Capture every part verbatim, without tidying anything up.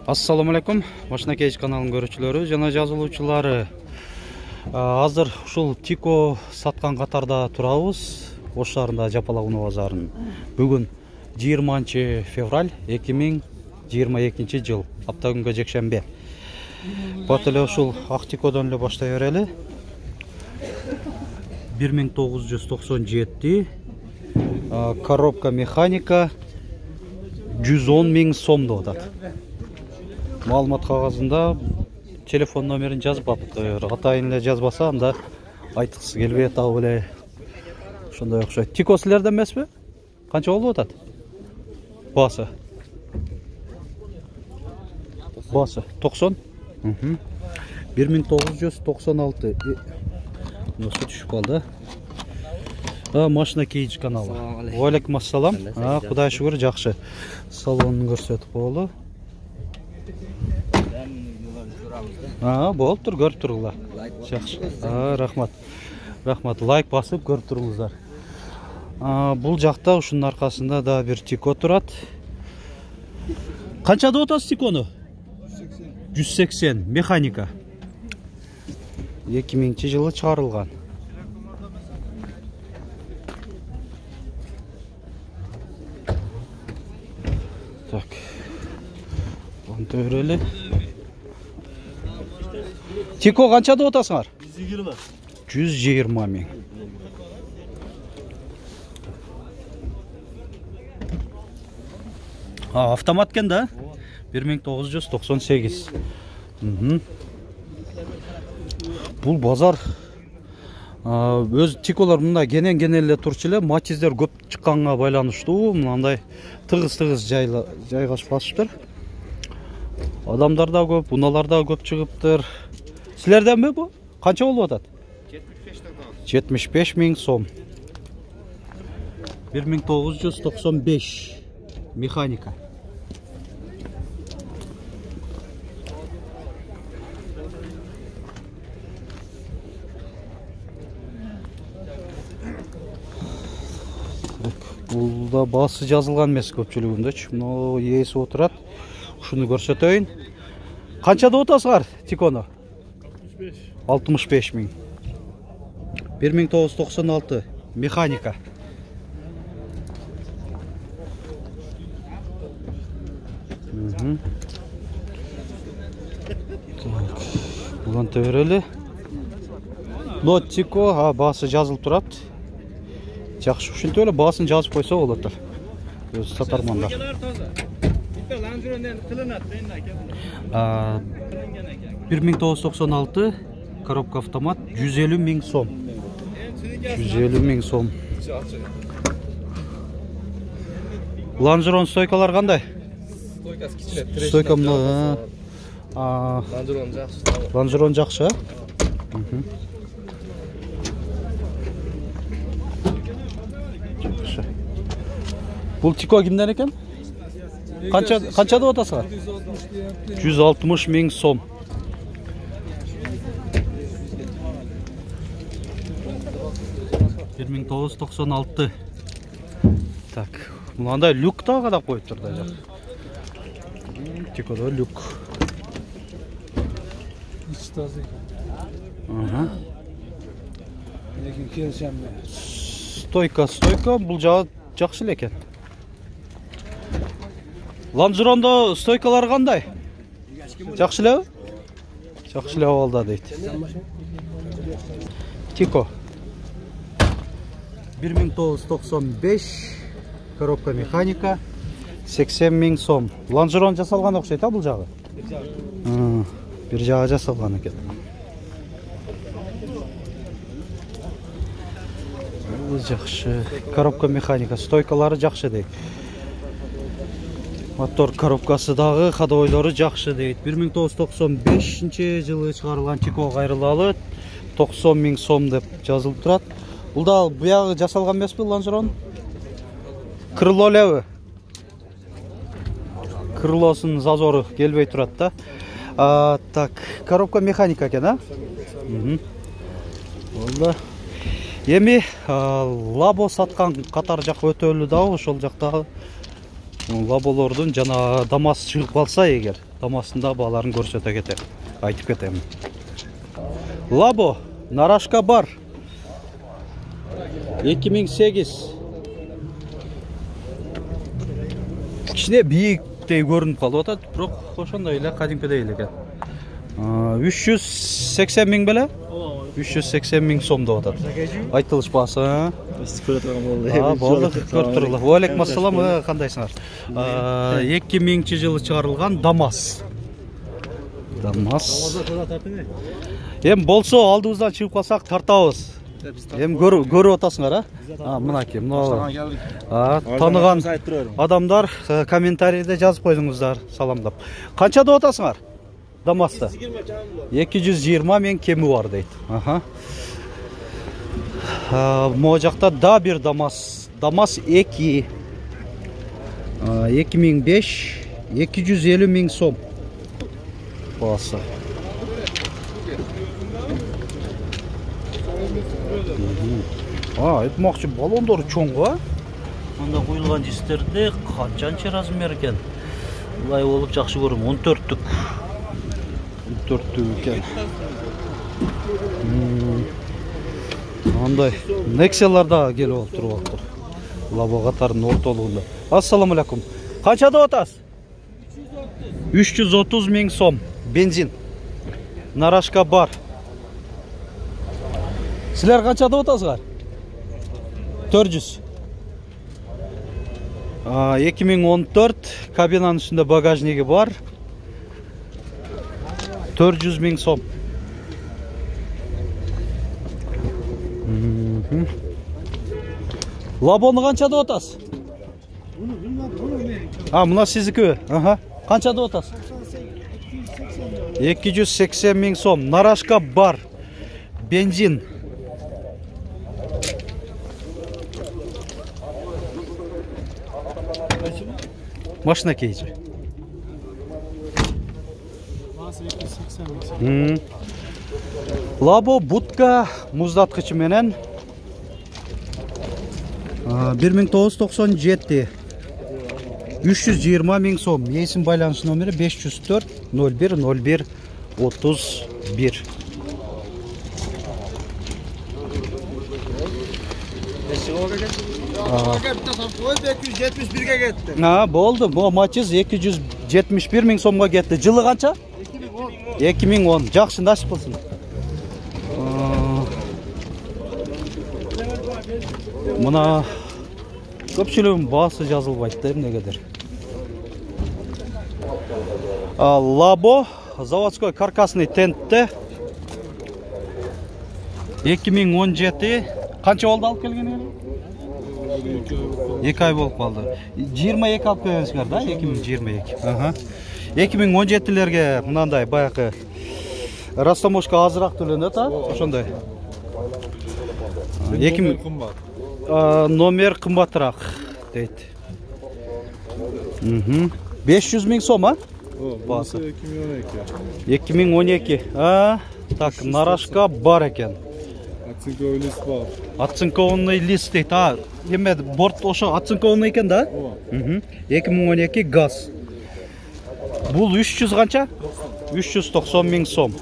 Assalamu alaikum. Машина Кейж каналынын көрүүчүлөрү жана жазылуучулары. Азыр ушул Тико саткан катарда турабыз. Ош шаарында Жапалак унаа базарынын. Бүгүн жыйырманчы февраль эки миң жыйырма экинчи жыл. Апта күнгө жекшембе. Бат эле ушул ак Тикодон эле баштай берели. бир миң тогуз жүз токсон жети. Коробка механика жүз он миң сом деп атат. Маалымат кагазында телефон номерин жазбаптыр. Атайын эле жазбаса, анда айткысы келбей атабы эле ошондой окшойт. Тико силерден эмеспи? Канча болуп атат? Басы. Басы токсон. бир миң тогуз жүз токсон алты. Носу түшүп калды. А, Машина Кейж каналы. Ва алейкум ассалам. А, Кудай шүгүр, жакшы. Салонун көрсөтүп коелу. А, болуптур, көрүп туруңуздар. Жакшы. А, рахмат. Рахмат. Лайк басып көрүп туруңуздар. А, бул жакта ушунун аркасында да бир Тико турат. Канча деп атасыз Тикону? жүз сексен. Механика. эки миңинчи жылы чыгарылган. Так. Онто өреле. Тико канча деп атасыңар? жүз жыйырма. жүз жыйырма миң. А, автомат экен да? бир миң тогуз жүз токсон сегиз. Бул базар өз Тиколор мында кенен-кенен эле турчу эле, матиздер көп чыкканга байланыштуу, мындай тыгыз-тыгыз жайгашпашыптыр. Адамдар да көп, унаалар да көп чыгыптыр. Силерденби бу? Канча болуп атат? жетимиш беш миң сом. бир миң тогуз жүз токсон беш. Механика. Бул да басы жазылган эмес көпчүлүгүндөчү. Мына ээси отурат. Ушуну көрсөтөйүн. Канча деп атасыңар Тикону? алтымыш беш миң. бир миң тогуз жүз токсон алты. Механика. Булан төбөрөлү. Лот Тико, басы жазылып турат. Жакшы, ушинтип эле баасын жазып койсо болот. Өз сатармандар. бир миң тогуз жүз токсон алты. Коробка автомат жүз элүү миң сом. жүз элүү миң сом. Лонжерон стойкалар кандай? Стойкасы кичине. Стойка мына. А, Лонжерон жакшы. Лонжерон жакшы. Жакшы. Бул Тико кимден экен? Канча канча деп атасыңар? жүз алтымыш миң сом. бир миң тогуз жүз токсон алты. Так, мындай люк да кадап коюптур да жак. Тикодо люк. Ага. Лекин келсем. Стойка, стойка, бул жагы жакшы эле экен. Лонжерондо стойкалар кандай? Жакшы элеби? Жакшы эле болду дейт. Тико. бир миң тогуз жүз токсон беш. Коробка механика сексен миң сом. Лонжерон жасалган окшойт, а бул жагы? Бир жагы жасалган экен. Бул жакшы. Коробка механика, стойкалары жакшы дейт. Мотор коробкасы дагы, ходовойлору жакшы дейт. бир миң тогуз жүз токсон бешинчи жылы чыгарылган Тико кайрылалы токсон миң сом деп жазылып турат. Бул да буягы жасалган эмеспи Лонжерон? Крыло элеби? Крылосунун зазору келбей турат да. А, так, коробка механика экен, а? Болду. Эми лабо саткан катар жак өтөлү дагы ошол жактагы лаболордун жана дамас чыгып калса эгер, дамасында бааларын көрсөтө кетем, айтып кетем. Лабо, нарашка бар. эки миң сегиз. Кичине бийиктей көрүнүп калып атат, бирок ошондой эле кадимкидей эле экен. үч жүз сексен миң беле? үч жүз сексен миң сом деп атат. Айтылышпасы. А, болду, көрүп турула. Ва алейкум ассалам, кандайсыңар? эки миңинчи жылы чыгарылган Дамас. Дамас. Эм болсо алдыбыздан чыгып калсак тартабыз. Эм көрүп атасыңар, а? Мынакей, мына. А, таныган адамдар комментарийде жазып койдуңуздар, саламдап. Канча деп атасыңар? Дамасты. эки жүз жыйырма миң кеми бар дейт. Аха. Могу жакта да бир Дамас. Дамас эки. эки миң беш, эки жүз элүү миң сом. Басы. А, айтмакчы баллондору чоң го. Мында куюлган жистерде канчанчы размер экен? Булай болуп жакшы көрөм, он төрттүк. он төрттүк экен. Андай Nexa'лар да келип алып туруп атыр. Лабо катарынын ортолугунда. Ассаламу алейкум. Канча деп атасыз? үч жүз отуз миң сом. Бензин. Нарашка бар. Силер канча деп атасыздар? төрт жүз. эки миң он төрт кабинанын үстүндө багажниги бар. төрт жүз миң сом. Лабону канча деп атасыз? А, мына сиздики. Аха. Канча деп атасыз? эки жүз сексен миң сом. Нарашка бар. Бензин. Машина кейчи. Лабо будка муздаткычы менен бир миң тогуз жүз токсон жети. үч жүз жыйырма миң сом. Эсим байланыш номери беш жүз төрт ноль бир ноль бир отуз бир. эки жүз жетимиш бирге кетти. А, болду. Бу Мачиз эки жүз жетимиш бир миң сомго кетти. Жылы канча? эки миң он. Жакшы, насип кылсын. Мына көпчүлүгүнүн баасы жазылбайт да эмнегедир. Лабо заводской каркасный тентте эки миң он жети. Канча болду алып келгени? эки ай болуп калды. жыйырма эки алып келгенсиңер да? эки миң жыйырма эки. Аха. эки миң он жетилерге мынандай баягы растаможка азыраак төлөнөт, а? Ошондой. эки миң кымбат. Номер кымбатыраак дейт. Мм. беш жүз миң сом, а? Басы. эки миң он эки. А, так, нарашка бар экен. Оцинковый лист бар. Оцинкованный лист дейт. А, эме борт ошо оцинкованный экен да? Мм. эки миң он эки газ. Бул үч жүз канча? үч жүз токсон миң сом.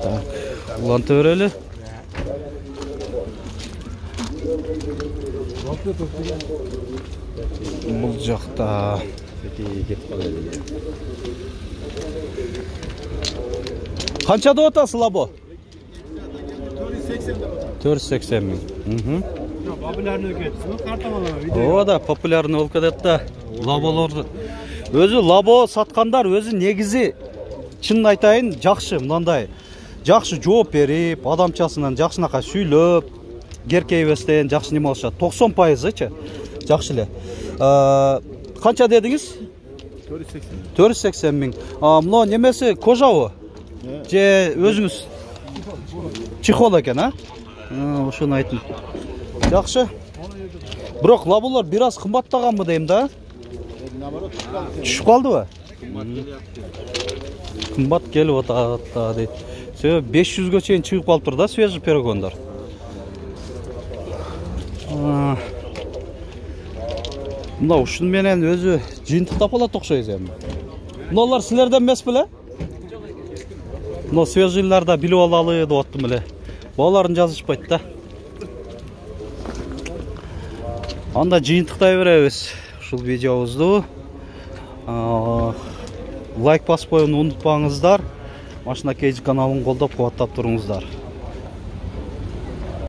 Так, уланта берели. Бул жакта канча деп атасыз Лабо? төрт жүз сексен миң. Мм. Популярный кетсин, картамалама видео. Ооба да, популярный болуп кетет да. Лаболорду өзү лабо саткандар өзү негизи чынын айтайын жакшы, мындай жакшы жооп берип, адамчасынан жакшынакай сүйлөп, керкейбестен жакшы неме алышат. токсон пайызычы жакшы эле. Канча дедиңиз? төрт жүз сексен миң. Мына немеси кожабы? Же өзүңүз чехол экен, а? Ошону айтым. Жакшы. Бирок лаболор бир аз кымбаттаганбы дейм да? Түшүп калдыбы? Кымбат келип атат да дейт. Себеби беш жүзгө чейин чыгып калыптыр да свежий перегондар. Мына ушун менен өзү жыйынтыктап алат окшойбуз эми. Мыналар силерден эмес беле? Мына свежийларда билип алалы деп аттым эле. Баларын жазышпайт да. Анда жыйынтыктай беребиз ушул видеобузду. Лайк басып коюуну унутпаңыздар. Машина Кейджи каналын колдоп кубаттап туруңуздар.